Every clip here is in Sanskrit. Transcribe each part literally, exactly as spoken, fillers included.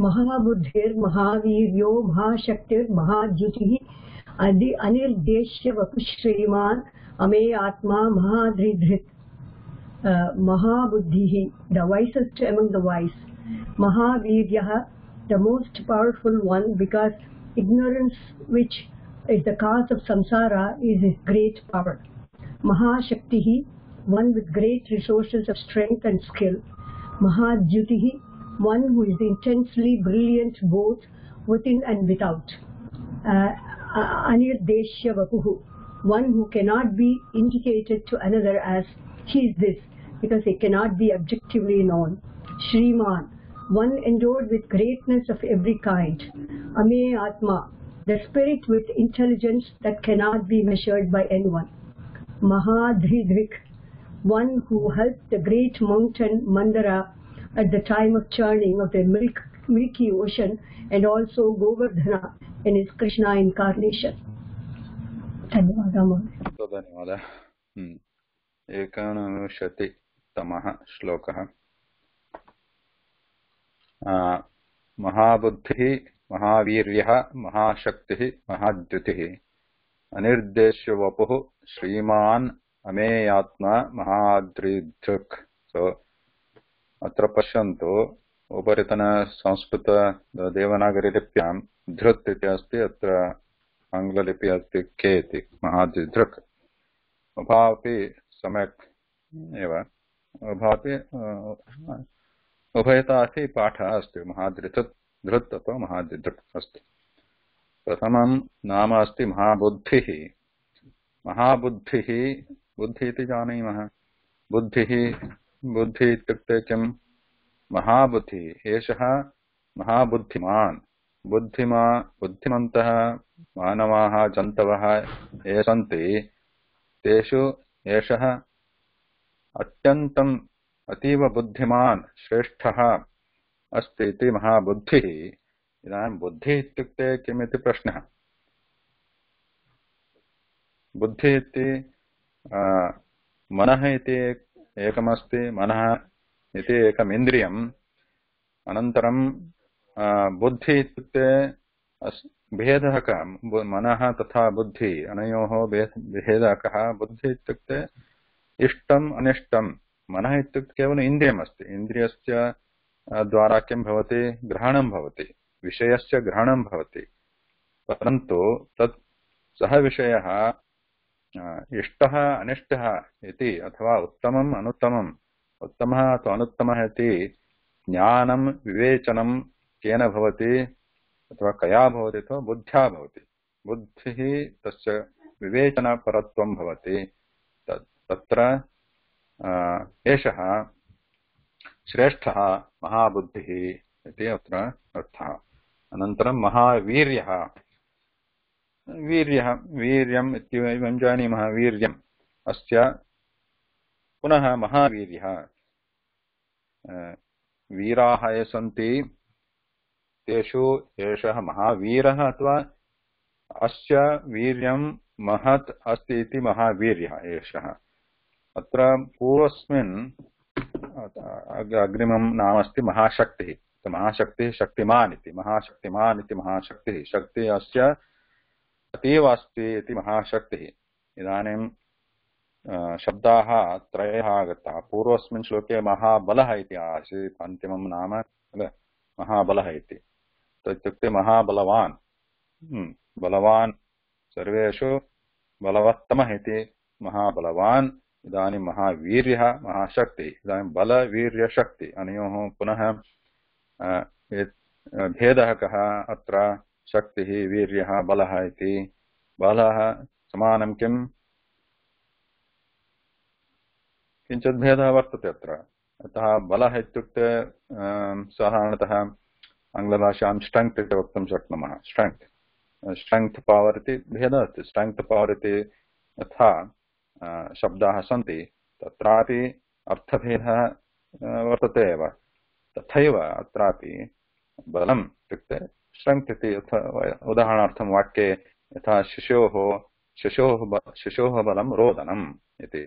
महाबुद्धिर् महावीर्यो महाशक्तिर् महाद्युतिः अदि अनिर्देश्य वपुश्रीमान् अमे आत्मा महाधृधृत्. Mahabuddhihi, the wisest among the wise. Mahaviryaha, the most powerful one, because ignorance, which is the cause of samsara, is his great power. Mahashaktihi, one with great resources of strength and skill. Mahadyutihi, one who is intensely brilliant both within and without. Uh, Anirdeshya Vapuhu, one who cannot be indicated to another as he is this, because he cannot be objectively known. Shriman, one endowed with greatness of every kind. Ame Atma, the spirit with intelligence that cannot be measured by anyone. Mahadridrik, one who helped the great mountain Mandara at the time of churning of the milk, milky ocean, and also Govardhana in his Krishna incarnation. धन्यवादः. एकानविंशतितमः श्लोकः. महाबुद्धिः महावीर्यः महाशक्तिः महाद्युतिः अनिर्देश्य वपुः श्रीमान् अमेयात्मा महाद्रिधृक्. सो अत्र पश्यन्तु, उपरितन संस्कृत देवनागरी लिप्यां धृत् इति अस्ति, अत्र आङ्ग्ललिपि अस्ति के इति, महाद्रिधृक्. उभावपि सम्यक् एव, उभावपि उभयतापि पाठः अस्ति. महाद्रिधृत् धृत् अथवा महाद्रिधृक् अस्ति. प्रथमं नाम अस्ति महाबुद्धिः. महाबुद्धिः, बुद्धिः इति जानीमः. बुद्धिः, बुद्धिः इत्युक्ते किं? महाबुद्धिः एषः महाबुद्धिमान्. बुद्धिमा बुद्धिमन्तः मानवाः जन्तवः ये सन्ति, तेषु एषः अत्यन्तम् अतीव बुद्धिमान् श्रेष्ठः अस्ति इति महाबुद्धिः. इदानीं बुद्धिः इत्युक्ते किमिति प्रश्नः. बुद्धिः इति मनः इति एकमस्ति. मनः इति एकम् इन्द्रियम्. अनन्तरं बुद्धिः इत्युक्ते भेदः कः? मनः तथा बुद्धिः, अनयोः भेदः कः? बुद्धिः इत्युक्ते इष्टम् अनिष्टम्. मनः इत्युक्ते केवलम् इन्द्रियमस्ति. इन्द्रियस्य द्वारा किं भवति? ग्रहणं भवति, विषयस्य ग्रहणं भवति. परन्तु तत् सः विषयः इष्टः अनिष्टः इति, अथवा उत्तमम् अनुत्तमम्, उत्तमः अथवा अनुत्तमः इति ज्ञानं विवेचनं केन भवति अथवा कया भवति? अथवा बुद्ध्या भवति. बुद्धिः तस्य विवेचनपरत्वं भवति. तत्र एषः श्रेष्ठः महाबुद्धिः इति अत्र अर्थः. अनन्तरं महावीर्यः. वीर्यः, वीर्यम् इत्येवं जानीमः. वीर्यम् अस्य पुनः महावीर्यः. वीराः ये सन्ति, तेषु एषः महावीरः अथवा अस्य वीर्यं महत् अस्ति इति महावीर्यः एषः. अत्र पूर्वस्मिन् अग्रिमं नाम अस्ति महाशक्तिः. महाशक्तिः शक्तिमान् इति. महाशक्तिमान् इति महाशक्तिः. शक्तिः अस्य अतीव अस्ति इति महाशक्तिः. इदानीं शब्दाः त्रयः आगताः. पूर्वस्मिन् श्लोके महाबलः इति आसीत्, अन्तिमं नाम महाबलः इति. इत्युक्ते महाबलवान्, बलवान्, सर्वेषु बलवत्तमः इति महाबलवान्. इदानीं महावीर्यः महाशक्तिः. इदानीं बलवीर्यशक्ति अनयोः पुनः भेदः कः? अत्र शक्तिः, वीर्यः, बलः इति. बलः समानं किम्? किञ्चित् भेदः वर्तते अत्र. अतः बलः इत्युक्ते साधारणतः आङ्ग्लभाषां स्ट्रेङ्ग्त् इति वक्तुं शक्नुमः. स्ट्रेङ्ग्त्, स्ट्रेङ्ग्त् पवर् इति भेदः अस्ति. स्ट्रेङ्ग्त् पवर् इति यथा शब्दाः सन्ति, तत्रापि अर्थभेदः वर्तते एव. तथैव अत्रापि बलम् इत्युक्ते स्ट्रेङ्ग्त् इति. उदाहरणार्थं वाक्ये यथा शिशोः शिशोः शिशोः बलं रोदनम् इति.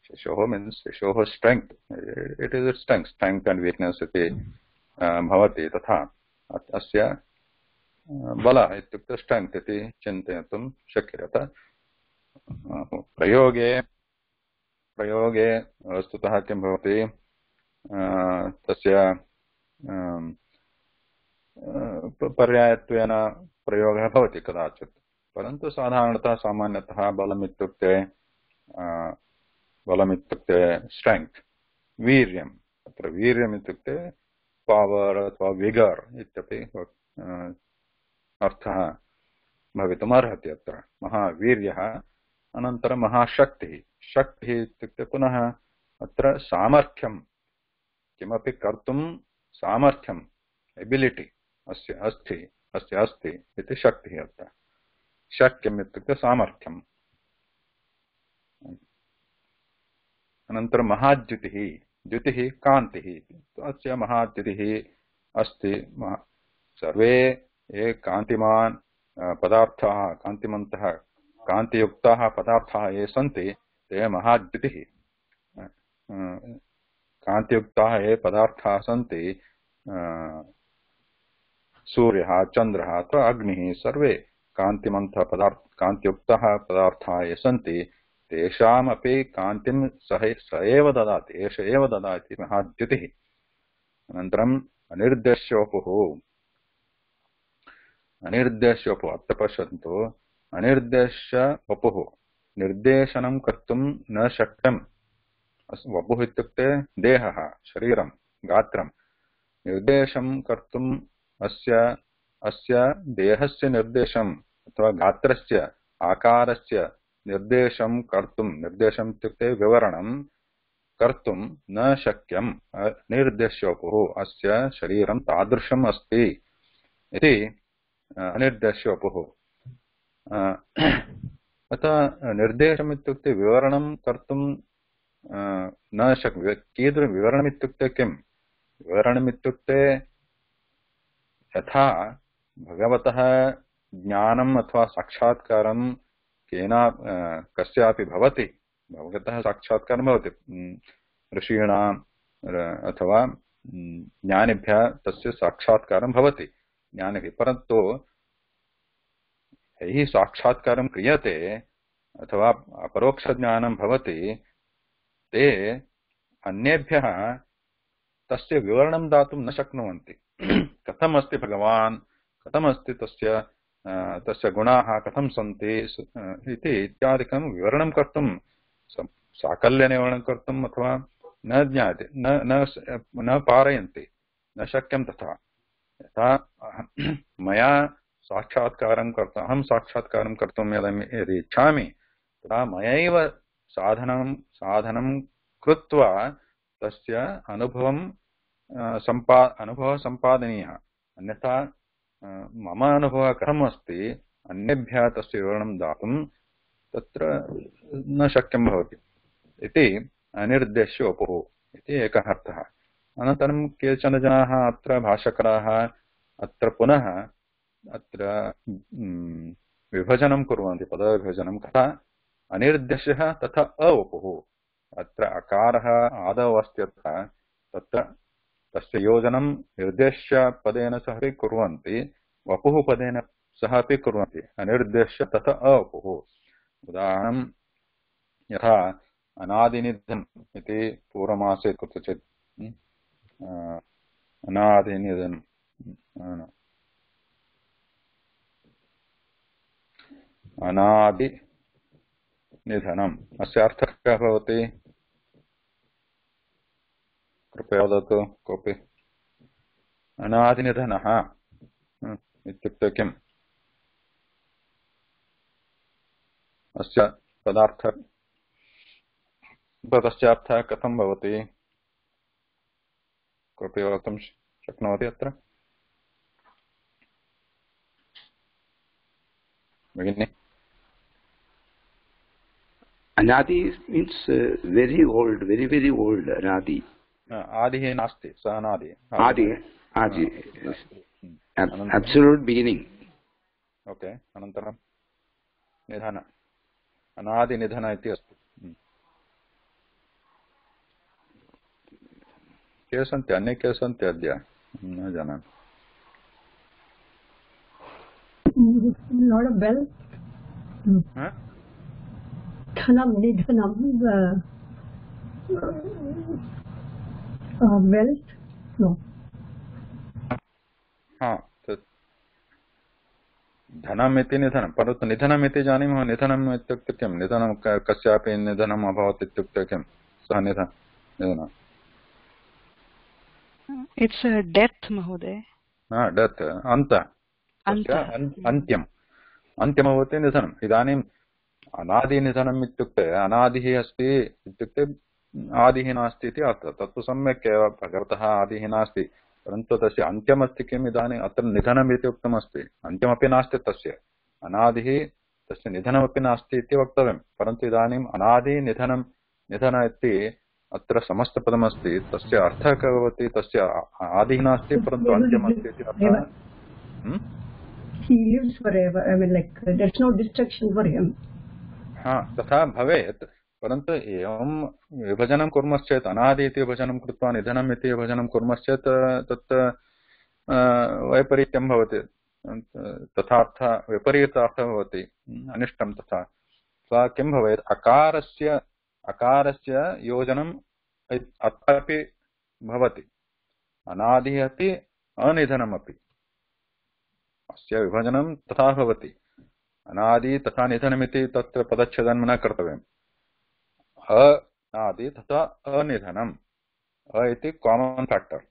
शिशोः मीन्स् शिशोः स्ट्रेङ्ग्त्, इट् इस् स्ट्रेङ्ग्त्. स्ट्रेङ्ग्त् अण्ड् वीक्नेस् इति भवति तथा अस्य बल इत्युक्ते स्ट्रेङ्ग्त् इति चिन्तयितुं शक्यते। प्रयोगे प्रयोगे वस्तुतः किं भवति, तस्य पर्यायत्वेन प्रयोगः भवति कदाचित्, परन्तु साधारणतः सामान्यतः बलमित्युक्ते बलमित्युक्ते स्ट्रेङ्ग्त्, वीर्यम्। अत्र वीर्यम् इत्युक्ते पावर् अथवा विगर् इत्यपि अर्थः भवितुम् अर्हति। अत्र महावीर्यः अनन्तरं महाशक्तिः। शक्तिः इत्युक्ते पुनः अत्र सामर्थ्यं, किमपि कर्तुं सामर्थ्यम्, एबिलिटि अस्य अस्ति अस्य अस्ति इति शक्तिः। अत्र शक्यम् इत्युक्ते सामर्थ्यम्। अनन्तरं महाद्युतिः, द्युतिः कान्तिः, अस्य महाद्युतिः अस्ति। सर्वे ये कान्तिमान् पदार्थाः, कान्तिमन्तः कान्तियुक्ताः पदार्थाः ये सन्ति ते महाद्युतिः। कान्तियुक्ताः ये पदार्थाः सन्ति, सूर्यः, चन्द्रः अथवा अग्निः, सर्वे कान्तिमन्तः पदार्थ कान्तियुक्ताः पदार्थाः ये सन्ति तेषामपि कान्तिं सः स एव ददाति, एष एव ददाति महाद्युतिः। अनन्तरम् अनिर्देश्योपुः, अनिर्देश्योपुः अत्र पश्यन्तु, अनिर्देश्य वपुः, निर्देशनं कर्तुं न शक्यम्। वपुः इत्युक्ते देहः, शरीरं, गात्रं। निर्देशं कर्तुम् अस्य अस्य देहस्य निर्देशम् अथवा गात्रस्य आकारस्य निर्देशं कर्तुं, निर्देशम् इत्युक्ते विवरणं कर्तुं न शक्यम्। अनिर्देश्योपुः, अस्य शरीरं तादृशम् अस्ति इति अनिर्देश्योपुः। अतः निर्देशम् इत्युक्ते विवरणं कर्तुं न शक्य। कीदृश विवरणमित्युक्ते किं? विवरणमित्युक्ते यथा भगवतः ज्ञानम् अथवा साक्षात्कारं केन कस्यापि भवति, भगवतः साक्षात्कारं भवति ऋषीणाम् अथवा ज्ञानिभ्यः, तस्य साक्षात्कारं भवति ज्ञानिभिः। परन्तु यैः साक्षात्कारं क्रियते अथवा अपरोक्षज्ञानं भवति, ते अन्येभ्यः तस्य विवरणं दातुं न शक्नुवन्ति। कथम् अस्ति भगवान्, कथम् अस्ति तस्य तस्य गुणाः कथं सन्ति इति इत्यादिकं विवरणं कर्तुं, साकल्येन विवरणं कर्तुम् अथवा न ज्ञायते, न न न पारयन्ति, न शक्यं तथा। यथा मया साक्षात्कारं कर्तुम्, अहं साक्षात्कारं कर्तुं यदि इच्छामि तदा मयैव साधनं साधनं कृत्वा तस्य अनुभवं सम्पा अनुभवः सम्पादनीयः। अन्यथा मम अनुभवः कथम् अस्ति अन्येभ्यः तस्य विवरणं दातुं तत्र न शक्यं भवति इति अनिर्देश्योपुः इति एकः अर्थः। अनन्तरं केचन जनाः अत्र भाष्यकाराः अत्र पुनः अत्र विभजनं कुर्वन्ति, पदविभजनं। कथा अनिर्देशः तथा अवपुः, अत्र अकारः आदौ अस्ति, तत्र तस्य योजनं निर्देश्य पदेन सह अपि कुर्वन्ति, वपुः पदेन सह अपि कुर्वन्ति। अनिर्देश्य तथा अवपुः। उदाहरणं यथा अनादिनिधनम् इति पूर्वमासे कुत्रचित् अनादिनिधनम् अनादिनिधनम् अस्य अर्थः कः भवति? कृपया वदतु कोऽपि। अनादिनिधनः इत्युक्ते किम्? अस्य पदार्थः तस्य अर्थः कथं भवति? कोऽपि वक्तुं शक्नोति अत्र? भगिनी? Anadi means uh, very old, very very old. Anadi. आदिः नास्ति, सः अनादि। Adi, Adi. Absolute beginning. Okay. अनन्तरं निधन, अनादिनिधन इति अस्ति। के सन्ति? अन्ये के सन्ति अद्य? न जानामि। Not a bell. Dhanam, nidhanam, uh, uh, wealth? No. हाँ, धनम् इति निधनं, परन्तु निधनम् इति जानीमः। निधनम् इत्युक्ते किं? निधनं कस्यापि निधनम् अभवत् इत्युक्ते किं? सः निधन निधनम् इट्स् डेत् महोदय। डेत्, अन्त, अन्त्यम् अन्त्यं भवति निधनम्। इदानीम् अनादिनिधनम् इत्युक्ते अनादिः अस्ति इत्युक्ते आदिः नास्ति इति अर्थः। तत्तु सम्यक् एव, भगवतः आदिः नास्ति, परन्तु तस्य अन्त्यमस्ति किम्? इदानीम् अत्र निधनम् इति उक्तमस्ति, अन्त्यमपि नास्ति तस्य, अनादिः तस्य निधनमपि नास्ति इति वक्तव्यं। परन्तु इदानीम् अनादि निधनं निधन इति अत्र समस्तपदमस्ति, तस्य अर्थः कः भवति? तस्य आदिः नास्ति परन्तु अन्त्यमस्ति इति अर्थः। He lives forever. I mean, like there's no destruction for him. हाँ, तथा भवेत्, परन्तु एवं विभजनं कुर्मश्चेत्, अनादि इति विभजनं कृत्वा निधनम् इति विभजनं कुर्मश्चेत् तत् वैपरीत्यं भवति, तथार्थ विपरीतार्थः भवति, अनिष्टं। तथा सा किं भवेत्? अकारस्य अकारस्य योजनम् अत्रापि भवति, अनादिः अपि अनिधनमपि, अस्य विभजनं तथा भवति। अनादि तथा निधनमिति तत्र पदच्छेदनं न कर्तव्यम्। अनादि तथा अनिधनम्, अ इति कामन् फैक्टर्।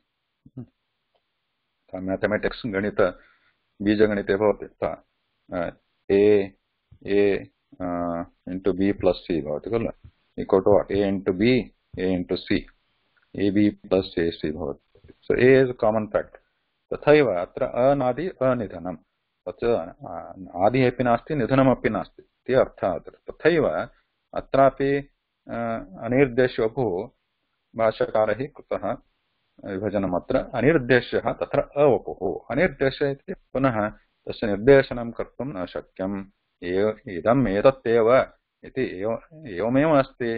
मैथमेटिक्स् गणित बीजगणिते भवति, A A into B plus C भवति खलु, equal to A into B A into C, A B plus A C भवति। So A is common fact. तथैव अत्र अनादि अनिधनं, तत् आदिः अपि नास्ति निधनमपि नास्ति इति अर्थः अत्र। तथैव अत्रापि अनिर्देशवपुः भाष्यकारैः कृतः विभजनम्। अत्र अनिर्देश्यः तत्र अवपुः। अनिर्देशः इति पुनः तस्य निर्देशनं कर्तुं न शक्यम्। इदम् एतत् इति एवमेव अस्ति,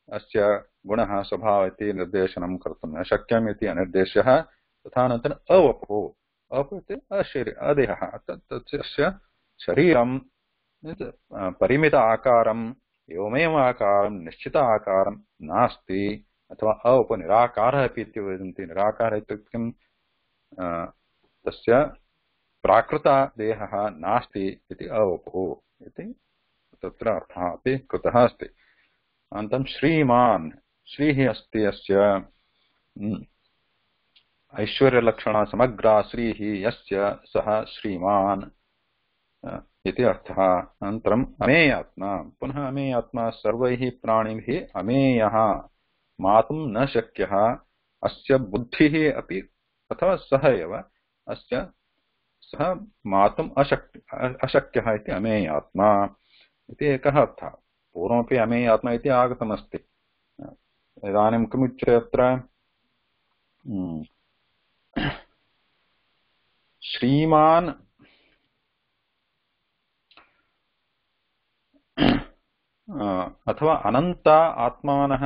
अस्य गुणः स्वभावः इति निर्देशनं कर्तुं न शक्यम् इति अनिर्देश्यः। तथा अनन्तरम् अवपुः, अवपुः इति अशरी अदेहः, तस्य शरीरं परिमित आकारम् एवमेव आकारं निश्चित आकारं नास्ति, अथवा अवपु निराकारः अपि इति वदन्ति। निराकारः इत्युक्ते किं? तस्य प्राकृतदेहः नास्ति इति अवपुः इति तत्र अर्थः अपि कृतः अस्ति। अनन्तरं श्रीमान्, श्रीः अस्ति अस्य ऐश्वर्यलक्षणा समग्रा श्रीः यस्य सः श्रीमान् इति अर्थः। अनन्तरम् अमेयात्मा, पुनः अमेयात्मा सर्वैः प्राणिभिः अमेयः, मातुं न शक्यः, अस्य बुद्धिः अपि अथवा सः एव अस्य सः मातुम् अशक्य अशक्यः इति अमेयात्मा इति एकः अर्थः। पूर्वमपि अमेयात्मा इति आगतमस्ति। इदानीं किमुच्यते अत्र? श्रीमान् अथवा अनन्त आत्मानः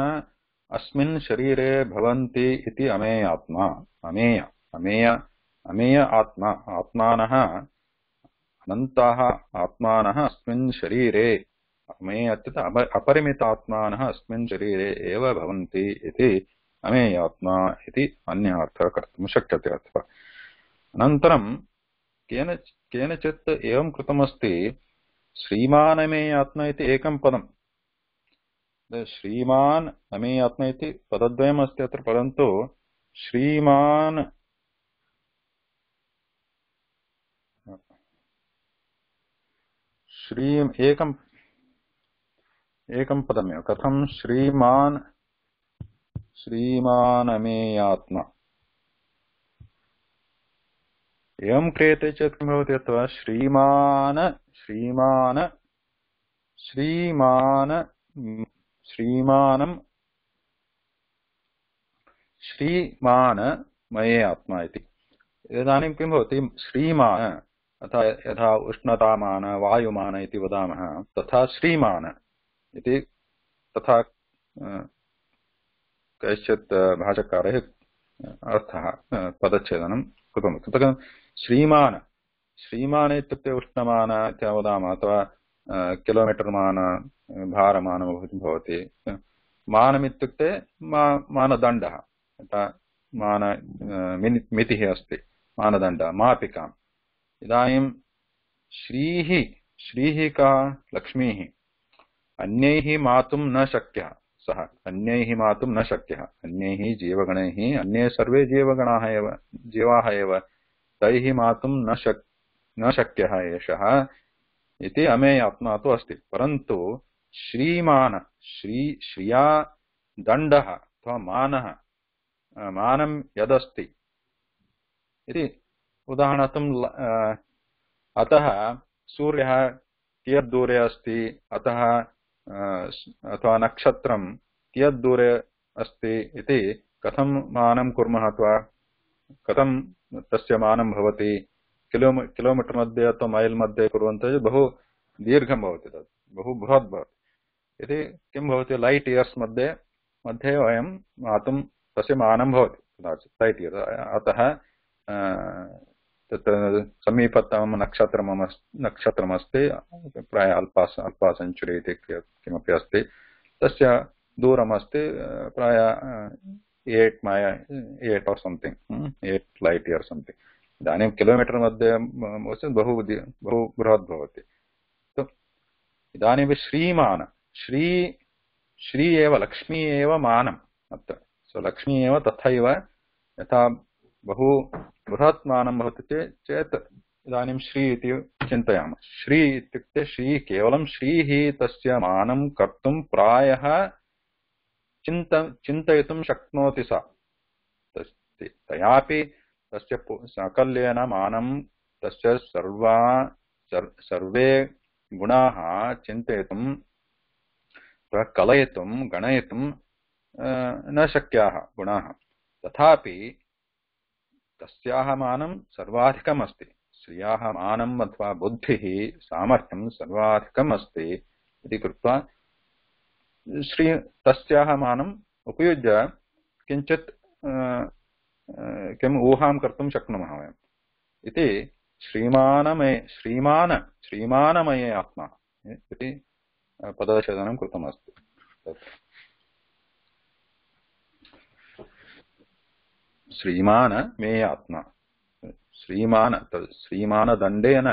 अस्मिन् शरीरे भवन्ति इति अमेयात्मा। अमेय अमेय अमेय आत्मा, आत्मानः अनन्ताः आत्मानः अस्मिन् शरीरे, अमेय इत्युक्ते अपरिमितात्मानः अस्मिन् शरीरे एव भवन्ति इति अमेयात्मा इति अन्यः अर्थः कर्तुं शक्यते। अथवा अनन्तरं केन केनचित् एवं कृतमस्ति, श्रीमान् अमेयात्मा इति एकं पदं। श्रीमान् अमेयात्मा इति पदद्वयम् अस्ति अत्र, परन्तु श्रीमान् श्री एकं एकं पदमेव। कथं? श्रीमान् श्रीमान् अमेयात्मा एवं क्रियते चेत् किं भवति? अथवा श्रीमान् श्रीमान् श्रीमान् श्रीमानं श्रीमान् मये आत्मा इति। इदानीं किं भवति? श्रीमान् अथवा यथा उष्णतामान वायुमान इति वदामः, तथा श्रीमान् इति तथा कैश्चित् भाषाकारैः अर्थः पदच्छेदनं कृतं। तत्र श्रीमान् श्रीमान् इत्युक्ते उष्णमान इति वदामः, अथवा किलोमीटर् मान भारमानं भवति। मानम् इत्युक्ते मा मानदण्डः, मान मितिः अस्ति, मानदण्डः, मापिकाम्। इदानीं श्रीः श्रीः का लक्ष्मीः अन्यैः मातुं न शक्यः, सः अन्यैः मातुं न शक्यः, अन्यैः जीवगणैः, अन्ये सर्वे जीवगणाः एव जीवाः एव, तैः मातुं न शक् न शक्यः एषः इति अमेयात्मा तु अस्ति। परन्तु श्रीमान श्री श्रिया दण्डः अथवा मानः मानं यदस्ति इति उदाहरणार्थं अतः सूर्यः कियद्दूरे अस्ति, अतः अथवा नक्षत्रं कियद्दूरे अस्ति इति कथं मानं कुर्मः, अथवा कथं तस्य मानं भवति। किलो किलोमीटर् मध्ये अथवा मैल् मध्ये कुर्वन्तः बहु दीर्घं भवति, तत् बहु बृहत् भवति। यदि किं भवति, लैट् इयर्स् मध्ये मध्ये वयं मातुं तस्य मानं भवति कदाचित् लैट् इयर्। अतः तत्र समीपतमं नक्षत्रम् नक्षत्रमस्ति, प्रायः अल्पा अल्पा सेञ्चुरी इति किमपि अस्ति, तस्य दूरमस्ति प्रायः eight my eight or something eight light year something. इदानीं किलोमीटर् मध्ये बहु बहु बृहत् भवति। इदानीं श्रीमान श्री श्री एव लक्ष्मी एव मानम् अत्र, सो लक्ष्मी एव तथैव यथा बहु बृहत् मानं भवति चेत् इदानीं श्री इति चिन्तयामः। श्री इत्युक्ते श्री केवलं श्रीः तस्य मानं कर्तुं प्रायः चिन्त चिन्तयितुं शक्नोति सा, तयापि तस्य साकल्येन मानं तस्य सर्वा सर्वे गुणाः चिन्तयितुं कलयितुं गणयितुं न शक्याः गुणाः, तथापि तस्याः मानं सर्वाधिकम् अस्ति। श्रियाः मानम् अथवा बुद्धिः सामर्थ्यं सर्वाधिकम् अस्ति इति कृत्वा श्री तस्याः मानम् उपयुज्य किञ्चित् किम् ऊहां कर्तुं शक्नुमः वयम् इति श्रीमानमये श्रीमान श्रीमानमये आत्मा इति पदच्छेदनं कृतमस्ति। श्रीमान मे आत्मा, श्रीमान श्रीमानदण्डेन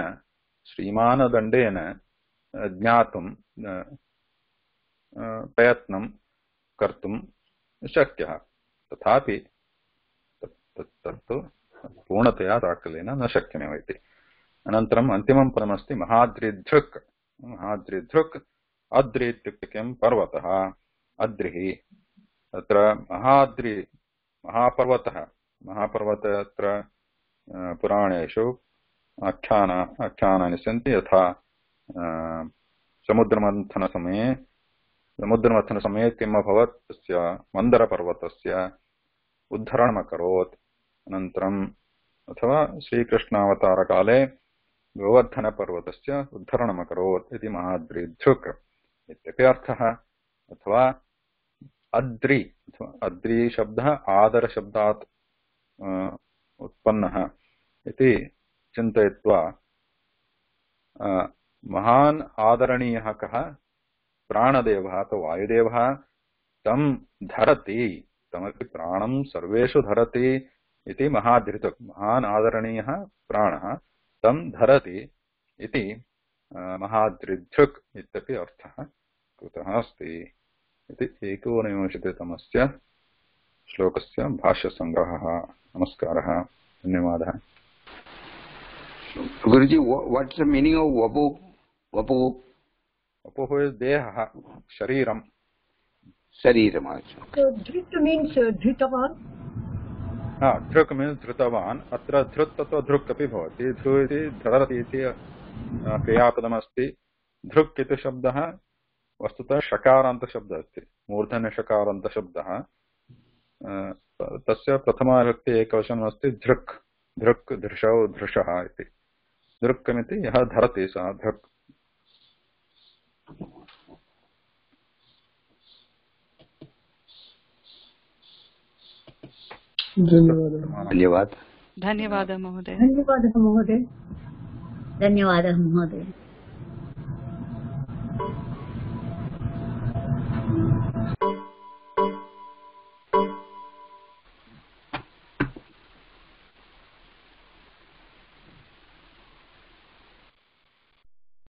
श्रीमानदण्डेन ज्ञातुं प्रयत्नं कर्तुं शक्यः, तथापि तत्तु पूर्णतया साकल्येन न शक्यमेव इति। अनन्तरम् अन्तिमं पदमस्ति महाद्रिधृक्। महाद्रिधृक् अद्रि इत्युक्ते किं, पर्वतः, अद्रिः। तत्र महाद्रि महापर्वतः, महापर्वतः अत्र पुराणेषु आख्यान आख्यानानि सन्ति। यथा समुद्रमन्थनसमये समुद्रमन्थनसमये किम् अभवत्, तस्य मन्दरपर्वतस्य उद्धरणमकरोत्। अनन्तरम् अथवा श्रीकृष्णावतारकाले गोवर्धनपर्वतस्य उद्धरणमकरोत् इति महाद्रिधृक् इत्यपि अर्थः। अथवा अद्रि अथवा अद्रि शब्दः आदरशब्दात् उत्पन्नः इति चिन्तयित्वा महान् आदरणीयः कः, प्राणदेवः अथवा वायुदेवः तं धरति, तमपि प्राणं सर्वेषु धरति इति महाद्रिधृक्। महान् आदरणीयः प्राणः तं धरति इति महाद्रिधृक् इत्यपि अर्थः कृतः अस्ति इति एकोनविंशतितमस्य श्लोकस्य भाष्यसङ्ग्रहः। नमस्कारः, धन्यवादः। Guruji, what's the meaning of vapu? Vapu? Vapu is deha, shariram. Shariram. So dhrit means uh, dhritavan. Ah, dhruk means dhritavan. Atra dhrut tato dhruk api bhavati. Dhru iti dharati iti kriyapadam asti. Dhruk iti shabdah वस्तुतः शकारन्त शब्दः अस्ति, मूर्धन्य शकारन्त शब्दः। तस्य प्रथमा विभक्ति एकवचनम् अस्ति धृक्, धृक् धृषौ धृषः इति। धृक्कमिति यः धरति सः धृक्। धन्यवाद धन्यवादः महोदय धन्यवादः महोदय धन्यवादः महोदय।